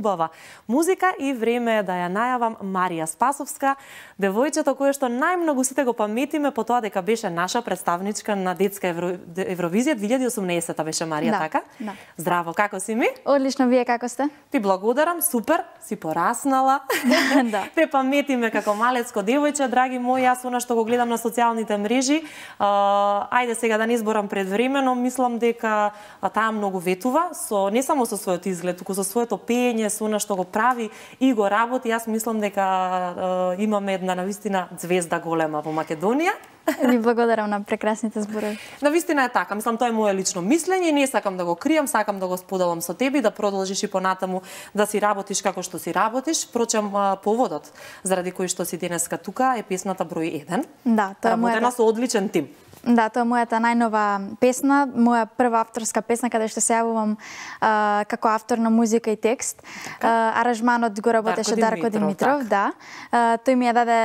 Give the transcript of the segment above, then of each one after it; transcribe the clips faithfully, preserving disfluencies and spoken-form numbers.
убава музика и време е да ја најавам Марија Спасовска, девојчето кое што најмногу сите го паметиме по тоа дека беше наша представничка на детска Евро... Евровизија две илјади и осумнаесета беше Марија, да, така? Да. Здраво, како си ми? Одлично, вие како сте? Ти благодарам, супер, си пораснала. Да. Те паметиме како малецко девојче, драги мои, јас она што го гледам на социјалните мрежи, а, ајде сега да не изборам предвремено, мислам дека таа многу ветува, со не само со својот изглед, туку со своето пеење, со она што го прави и го работи. Јас мислам дека а, имаме една навистина звезда голема во Македонија. Ви благодарам на прекрасните зборови. Навистина е така, мислам тоа е моје лично мислење, не сакам да го кријам, сакам да го споделам со тебе и да продолжиш и понатаму да си работиш како што си работиш. Впрочем, поводот заради кој што си денеска тука е песната број еден. Да, тоа е работена со одличен тим. Да, тоа е мојата најнова песна, моја прва авторска песна каде што се јавувам а, како автор на музика и текст. А, аранжманот го работеше Дарко, Дарко Димитров, да. А, тој ми ја даде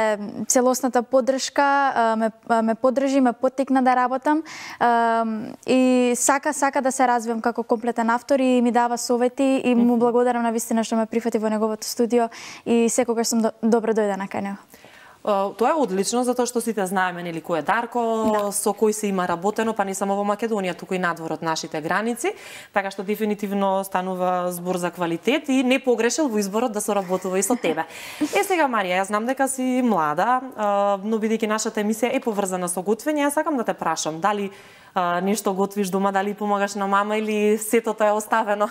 целосната поддршка, а, ме, ме поддржи, ме поттикна да работам а, и сака сака да се развивам како комплетен автор и ми дава совети и му благодарам на вистина што ме прифати во неговото студио и секогаш сум до, добро дојдена кај него. Тоа е одлично, затоа што сите знаеме нели кој е Дарко, да. Со кој се има работено, па не само во Македонија, туку и надвор од нашите граници, така што дефинитивно станува збор за квалитет и не погрешил во изборот да соработува и со тебе. Е сега Марија, јас знам дека си млада, но бидејќи нашата емисија е поврзана со готвење, јас сакам да те прашам, дали Uh, нешто готвиш дома, дали помагаш на мама или сето тоа е оставено?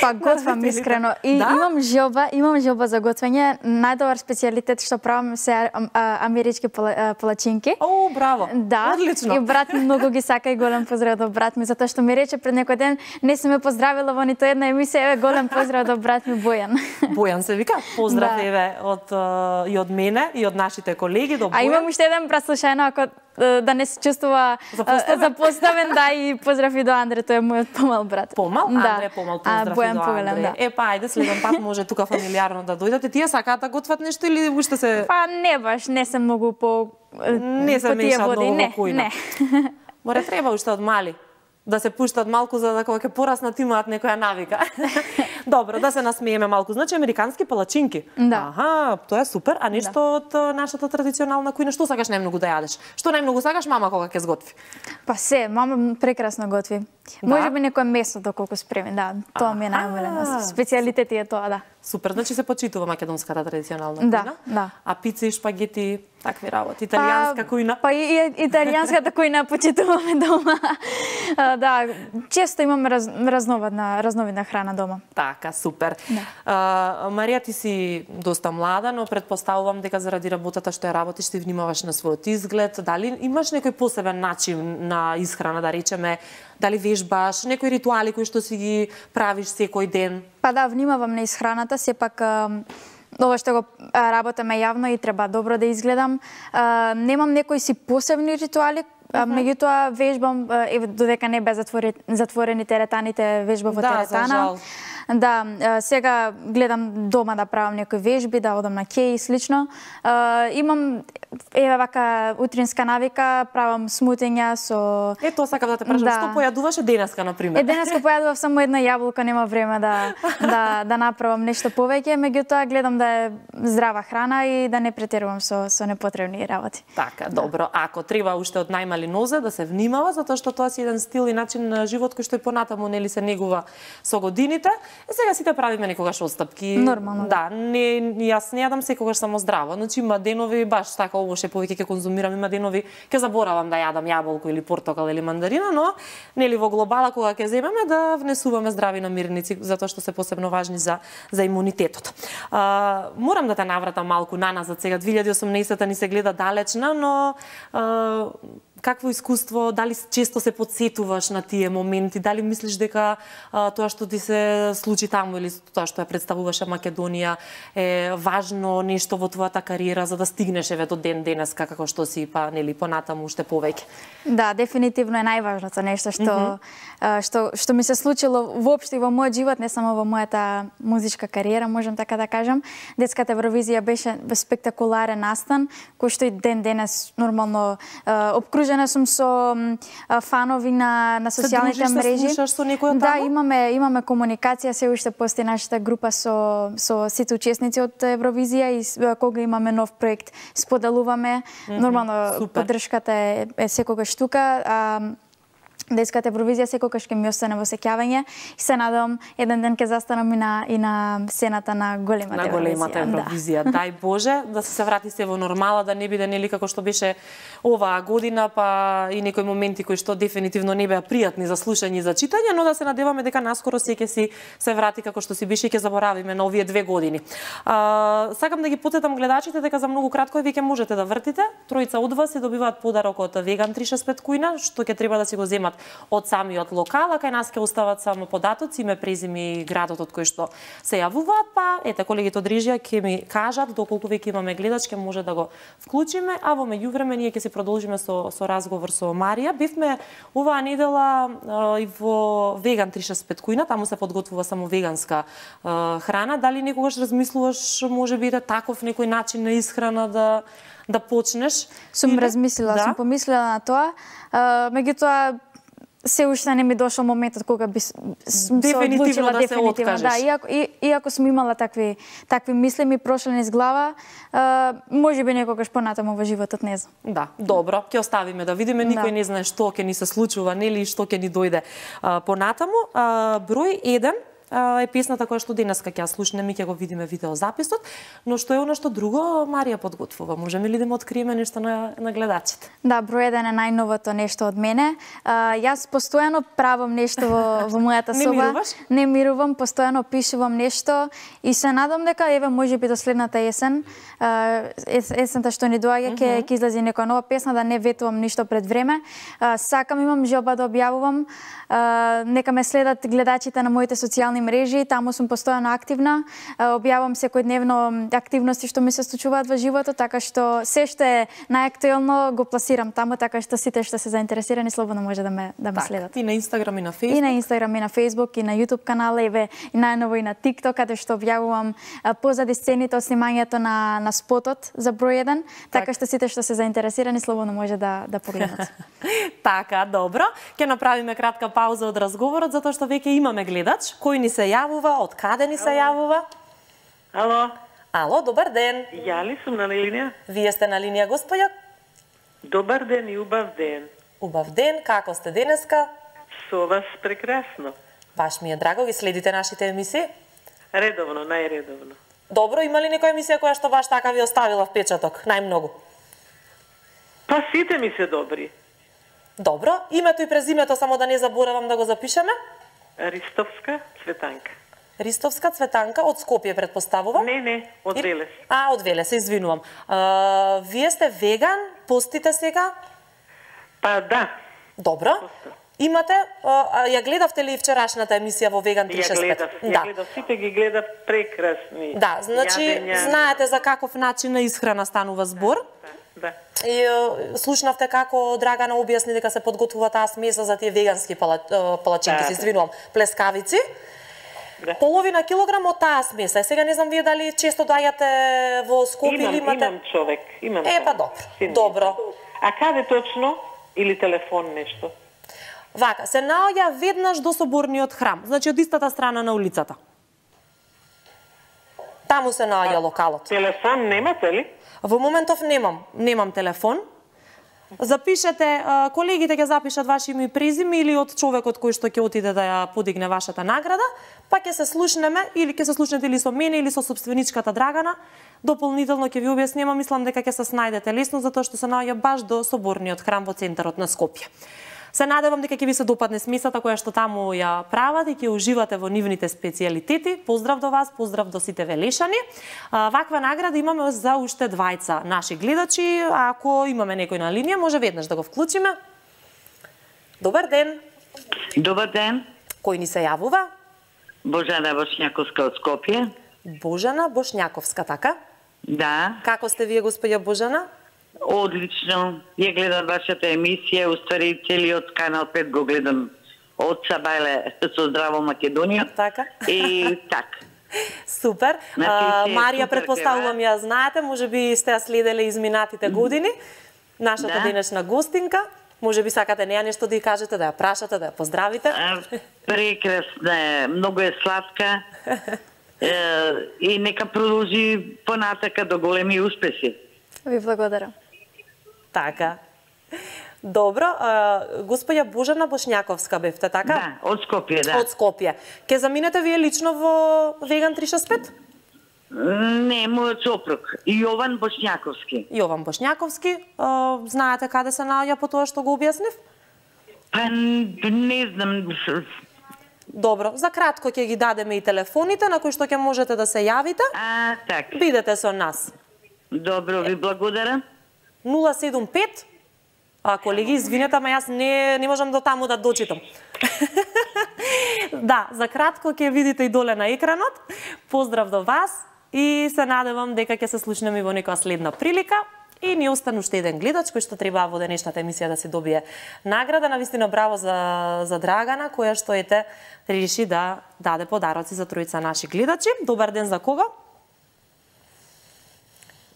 Па готвам искрено и да? имам желба, имам желба за готвење. Најдобар специјалитет што правам се а, амерички пала, палачинки. О, браво. Да. Одлично. И брат ми многу ги сака и голем поздрав до брат ми затоа што ми рече пред некој ден не се ме поздравила во нито една емисија, еве голем поздрав до брат ми Бојан. Бојан се вика. Поздрав да. еве од uh, и од мене и од нашите колеги до Бојан. А имам уште еден праслушајно ако да не се чувствува запоставен, да, и поздрав и до Андре, тој е мојот помал брат. Помал? Да. Андре помал, поздрав а, и до Андре. Да. Е, па, ајде, следен пат може тука фамилиарно да дојдете. Тие сакаат да готват нешто или уште се... Па не баш, не се многу по... Не се меша многу во кујна. Не, Море треба уште од мали да се пуштат малку за да кога ќе пораснат имаат некоја навика. Добро, да се насмееме малку. Значи американски палачинки. Да. Аха, тоа е супер. А нешто да. од нашата традиционална кујна, што сакаш најмногу да јадеш? Што најмногу сакаш мама кога ќе сготви? Па се, мама прекрасно готви. Да? Може би некој месо доколку спреми, да. Тоа ми е најомилено. Специјалитет е тоа, да. Супер, значи се почитува македонската традиционална да, кујна. Да. А пици, шпагети, такви работи, италијанска па, кујна. Па и, и италијанската кујна почитуваме дома. а, да, често имаме раз, разновидна, разновидна храна дома. Така, супер. Да. А, Марија, ти си доста млада, но предпоставувам дека заради работата што ја работиш ти внимаваш на својот изглед. Дали имаш некој посебен начин на исхрана, да речеме, дали вежбаш, некои ритуали кои што си ги правиш секој ден? Па да, внимавам на исхраната, сепак ова што го работаме јавно и треба добро да изгледам. А, немам некои си посебни ритуали, uh-huh. меѓутоа вежбам, еве додека не бе затвори, затворени теретаните, вежба во да, теретана. За жал. Да, сега гледам дома да правам некои вежби, да одам на кеј и слично. Имам еве вака утринска навика, правам смутења со... Е, тоа сакам да те прашам, да. Што појадуваше денеска, например? Е, денеска појадував само една јаболка, нема време да, да, да направам нешто повеќе, меѓутоа гледам да е здрава храна и да не претерувам со, со непотребни работи. Така, добро. Ако треба уште од најмали нозе да се внимава, затоа што тоа си еден стил и начин на живот кој што и понатаму нели се негува со годините. Е, сега сите правиме некогаш отстапки. Нормално. Да, не, јас не јадам секогаш само здраво. Значи има денови баш така овоше повеќе ќе конзумирам, има денови ќе заборавам да јадам јаболко или портокал или мандарина, но нели во глобала кога ќе земеме да внесуваме здрави намирници затоа што се посебно важни за за имунитетот. А, морам да те навратам малку наназад сега, две илјади и осумнаесета ни се гледа далечна, но а, какво искуство, дали често се подсетуваш на тие моменти, дали мислиш дека а, тоа што ти се случи таму или тоа што ја представуваше Македонија е важно нешто во твојата кариера за да стигнеш еве до ден денеска како што си па нели понатаму уште повеќе? Да, дефинитивно е најважното нешто што mm -hmm. што што ми се случило воопшто и во мојот живот, не само во мојата музичка кариера, можам така да кажам. Детската Евровизија беше спектакуларен настан кој што и ден денес нормално обкружен Подружена сум со фанови на на социјалните мрежи. Се дружиш, се слушаш со некој од Да, таму? имаме имаме комуникација, се уште постои нашата група со со сите учесници од Евровизија и с- кога имаме нов проект споделуваме. Нормално супер. поддршката е, е секогаш тука. А, да искате Евровизија секогаш ќе ми остане во сеќавање и се надам еден ден ќе застанам и на и на сцената на големата на големата Евровизија. Да. Дај Боже да се врати се во нормала, да не биде нели како што беше оваа година, па и некои моменти кои што дефинитивно не беа пријатни за слушање и за читање, но да се надеваме дека наскоро се ќе си се врати како што си беше и ќе заборавиме на овие две години. А, сакам да ги потетам гледачите дека за многу кратко веќе можете да вртите. Тројца од вас се добиваат подарок од Веган триста и шестдесет пет кујна, што ќе треба да си го земат од самиот локал, а кај нас ќе остават само податоци, име, презиме и градот од кој што се јавуваат, па ете колегите од режија ќе ми кажат доколку веќе имаме гледач, ќе може да го вклучиме, а во меѓувреме ние ќе се продолжиме со со разговор со Марија. Бевме оваа недела а, и во Веган триста и шестдесет пет кујна, таму се подготвува само веганска а, храна. Дали некогаш размислуваш можеби да таков некој начин на исхрана да да почнеш? Сум Или- размислила, да? сум помислила на тоа. А, меѓутоа се уште не ми дошол моментот кога би с- сум се Дефинитивно одлучила да се дефинитивно. откажеш. Да, иако, и, иако сум имала такви такви мисли ми прошли низ глава, а, можеби некогаш понатаму во животот, не знам. Да, добро, ќе оставиме да видиме, никој Да. не знае што ќе ни се случува, нели, и што ќе ни дојде а, понатаму. А, број еден а, е песната која што денеска ќе ја слушнеме и ќе го видиме видеозаписот, но што е она што друго Марија подготвува? Можеме ли да му откриеме нешто на, на гледачите? Да, број еден е најновото нешто од мене. А, јас постојано правам нешто во, во мојата Не соба. мируваш? Не мирувам, постојано пишувам нешто и се надам дека еве можеби до следната есен, а, ес, есента што ни доаѓа ќе ќе излезе некоја нова песна, да не ветувам ништо пред време. А, сакам, имам желба да објавувам. А, нека ме следат гледачите на моите социјални мрежи, таму сум постојано активна. А, објавам секојдневно активности што ми се случуваат во животот, така што се што е најактуелно го пласирам таму, така што сите што се заинтересирани слободно може да ме да ме следат. И на Инстаграм и на И Фејсбук. на Инстаграм, и на Фејсбук, и на Јутуб канал, еве и најново и на ТикТок, каде што објавувам а, позади сцените од снимањето на на спотот за број еден, така што сите што се заинтересирани слободно може да да погледнат. Така, добро. Ќе направиме кратка пауза од разговорот, затоа што веќе имаме гледач. Кој ни се јавува, од каде ни се јавува? Ало, Ало, добар ден. ја ли сум на линија? Вие сте на линија, господја? Добар ден и убав ден. Убав ден, како сте денеска? Со вас прекрасно. Баш ми е драго, ги следите нашите емисии? Редовно, најредовно. Добро, има ли некоја емисија која што баш така ви оставила впечаток, најмногу? Па сите ми се добри. Добро, името и презимето само да не заборавам да го запишеме. Ристовска Цветанка. Ристовска Цветанка од Скопје, предпоставувам. Не, не, од И- Велес. А, од Велес, се извинувам. А, вие сте веган, постите сега? Па да, Добро. Имате, а, ја гледавте ли вчерашната емисија во Веган ја триста и шестдесет пет? гледав, ја гледав, сите ги гледав прекрасни. Да, значи Јадења. знаете за каков начин на исхрана станува збор. Да. И е, слушнавте како Драгана објасни дека се подготвува таа смеса за тие вегански пала, е, палачинки, Да, се да. извинувам, плескавици. Да. Половина килограм од таа смеса. Е, сега не знам вие дали често доаѓате во Скопје Имам, или имате... имам човек, имам Е, човек. па добро, Син. добро. А каде точно? Или телефон нешто? Вака, се наоѓа веднаш до соборниот храм, значи од истата страна на улицата. Таму се наоѓа локалот. Телефон немате ли? Во моментов немам, немам телефон. Запишете, а, колегите ќе запишат ваши име и презиме или од човекот кој што ќе отиде да ја подигне вашата награда, па ќе се слушнеме или ќе се слушнете или со мене или со собственичката Драгана. Дополнително ќе ви објаснеме, мислам дека ќе се снајдете лесно затоа што се наоѓа баш до соборниот храм во центарот на Скопје. Се надевам дека ќе ви се допадне смесата која што таму ја прават и ќе уживате во нивните специјалитети. Поздрав до вас, поздрав до сите велешани. А, ваква награда имаме за уште двајца наши гледачи. Ако имаме некој на линија, може веднаш да го вклучиме. Добар ден. Добар ден, Кој ни се јавува? Божана Бошњаковска од Скопје. Божана Бошњаковска, така? Да, Како сте вие, господја Божана? одлично. Ја гледам вашата емисија, уствари целиот канал пет го гледам од Сабајле со Здраво Македонија. Така? И така. Супер. Значи, А, се Марија, супер предпоставувам ја знаете, можеби сте ја следеле изминатите години. Нашата Да. денешна гостинка. Може би сакате неа нешто да ја кажете, да ја прашате, да ја поздравите? А, прекрасна е, многу е сладка. Е, и нека продолжи понатака до големи успеси. Ви благодарам. Така. Добро, а, господја Божана Бошњаковска бевте, така? Да, од Скопје, да. Од Скопје. Ке заминете вие лично во Веган триста шест пет? Не, мојот сопруг, Јован Бошњаковски. Јован Бошњаковски. А, знаете каде се наоѓа по тоа што го објаснив? Па не знам. Добро, за кратко ќе ги дадеме и телефоните на кои што ќе можете да се јавите. А, така. Бидете со нас. Добро, ви благодарам. нула седум пет. А, колеги, извинете, ама јас не, не можам до таму да дочитам. Да, за кратко ќе видите и доле на екранот. Поздрав до вас и се надевам дека ќе се слушнеме во некоја следна прилика. И ни остану уште еден гледач кој што треба во денешната емисија да се добие награда. Навистина браво за, за Драгана, која што ете реши да даде подароци за тројца наши гледачи. Добар ден за кого?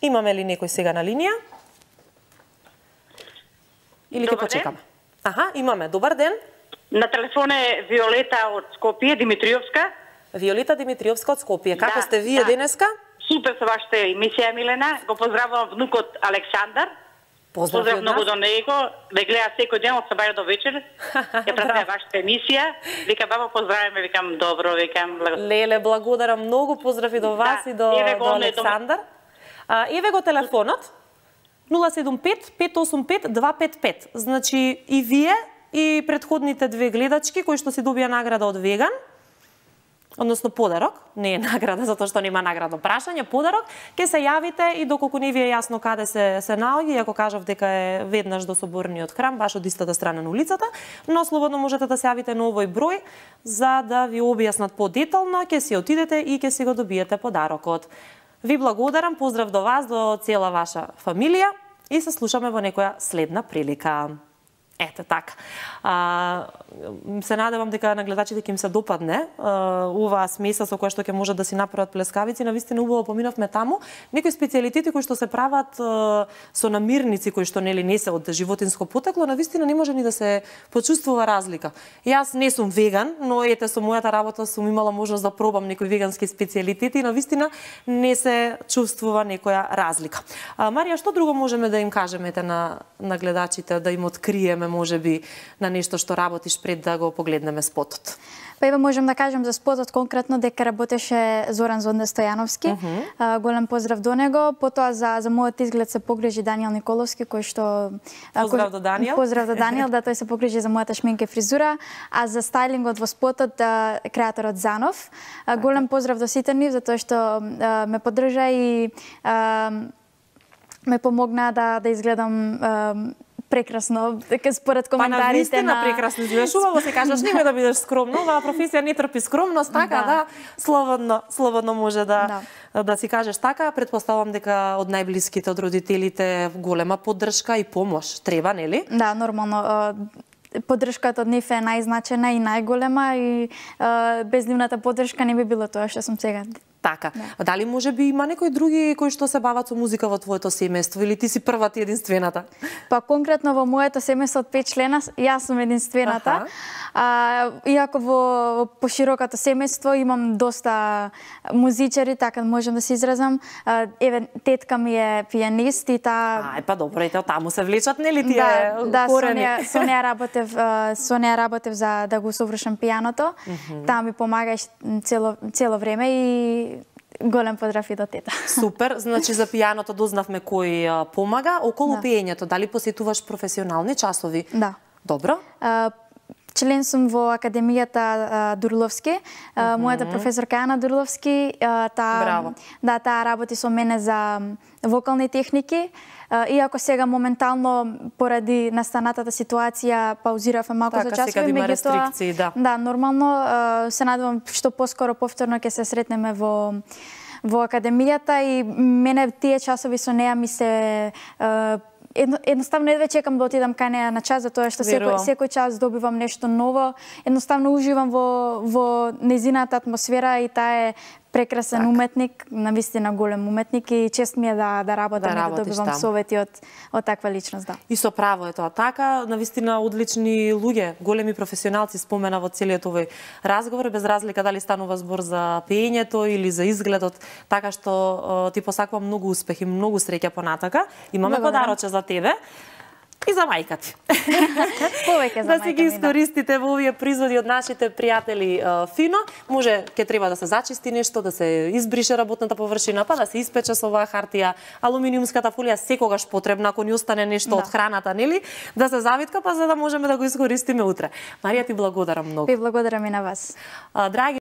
Имаме ли некој сега на линија? Или ќе почекаме? Аха, имаме. Добар ден. На телефон е Виолета од Скопје, Димитриовска. Виолета Димитриовска од Скопје. Како Да, сте вие да. денеска? Супер со вашата емисија, Милена. Го поздравувам внукот Александар. Поздрав Поздрав од многу нас. до него. Ве гледа секој ден од сабаја до вечер. Ја пратам вашата емисија. Вика, баба, поздравиме, викам, добро, викам. Леле, благодарам многу. Поздрави до вас Да, и до, еве го до он е Александар. А, еве го телефонот. нула седум пет пет осум пет два пет пет. Значи и вие и претходните две гледачки кои што си добија награда од Веган, односно подарок, не е награда затоа што нема наградно прашање, подарок, ќе се јавите и доколку не ви е јасно каде се се наоѓа, иако кажав дека е веднаш до соборниот храм, баш од истата страна на улицата, но слободно можете да се јавите на овој број за да ви објаснат подетално, ќе си отидете и ќе си го добиете подарокот. Ви благодарам, поздрав до вас, до цела ваша фамилија и се слушаме во некоја следна прилика. Ете така. А, се надевам дека на гледачите ќе им се допадне а, оваа смеса со која што ќе можат да си направат плескавици. Навистина убаво поминавме таму. Некои специјалитети кои што се прават а, со намирници кои што нели не се од животинско потекло, навистина не може ни да се почувствува разлика. Јас не сум веган, но ете со мојата работа сум имала можност да пробам некои вегански специјалитети и навистина не се чувствува некоја разлика. А, Марија, што друго можеме да им кажеме ете на на гледачите, да им откриеме можеби на нешто што работиш пред да го погледнеме спотот? Па ева можам да кажам за спотот конкретно дека работеше Зоран Зонде Стојановски. Uh -huh. а, голем поздрав до него. Потоа за за мојот изглед се погрижи Даниел Николовски, кој што Поздрав кој, до Даниел. Поздрав до Даниел, да тој се погрижи за мојата шминка и фризура, а за стајлингот во спотот а, креаторот Занов. А, голем поздрав до сите нив затоа што а, ме поддржа и а, ме помогна да да изгледам а, прекрасно, дека според коментарите па, навистина, на... прекрасно изгледаш, убаво се кажеш, немој да бидеш скромна, оваа професија не трпи скромност, така да, да слободно, слободно може да, да да си кажеш така. Предпоставам дека од најблиските, од родителите голема поддршка и помош треба, нели? Да, нормално. Поддршката од нив е најзначена и најголема и без нивната поддршка не би било тоа што сум сега. Така. Да. Дали може би има некои други кои што се бават со музика во твоето семејство или ти си првата и единствената? Па конкретно во моето семејство од пет члена, јас сум единствената. А, иако во поширокото семејство имам доста музичари, така можам да се изразам. А, еве тетка ми е пијанист и таа Ај па добро, ете таму се влечат нели тие да, да, корени? Да, со неа работев, со неа работев за да го совршам пијаното. Mm -hmm. Таа ми помагаш цело цело време и голем поздрав и до тета. Супер, значи за пијаното дознавме кој а, помага. Околу Да. пеењето, дали посетуваш професионални часови? Да. Добро. А, член сум во Академијата а, Дурловски. А, мојата професорка Ана Дурловски, а, таа Браво. да, таа работи со мене за вокални техники. А, иако сега моментално поради настанатата ситуација паузиравме малку Така, за часови, сега има меѓутоа рестрикции, да. Да, нормално а, се надевам што поскоро повторно ќе се сретнеме во во академијата и мене тие часови со неа ми се а, едно, едноставно едве чекам да отидам кај неа на час, затоа што секој, секој час добивам нешто ново. Едноставно уживам во, во незината атмосфера и таа е прекрасен так. уметник, навистина голем уметник и чест ми е да да работам да и да добивам там. совети од од таква личност, да. И со право е тоа така, навистина одлични луѓе, големи професионалци спомена во целиот овој разговор, без разлика дали станува збор за пеењето или за изгледот, така што ти посакувам многу успех и многу среќа понатака. Имаме подароче за тебе. И за мајка ти. Повеќе за да си ги искористите во овие производи од нашите пријатели Фино. Може ќе треба да се зачисти нешто, да се избрише работната површина, па да се испече со оваа хартија, алуминиумската фолија секогаш потребна ако ни остане нешто да. од храната, нели? Да се завитка па за да можеме да го искористиме утре. Марија, ти благодарам многу. Ви благодарам и на вас. Драги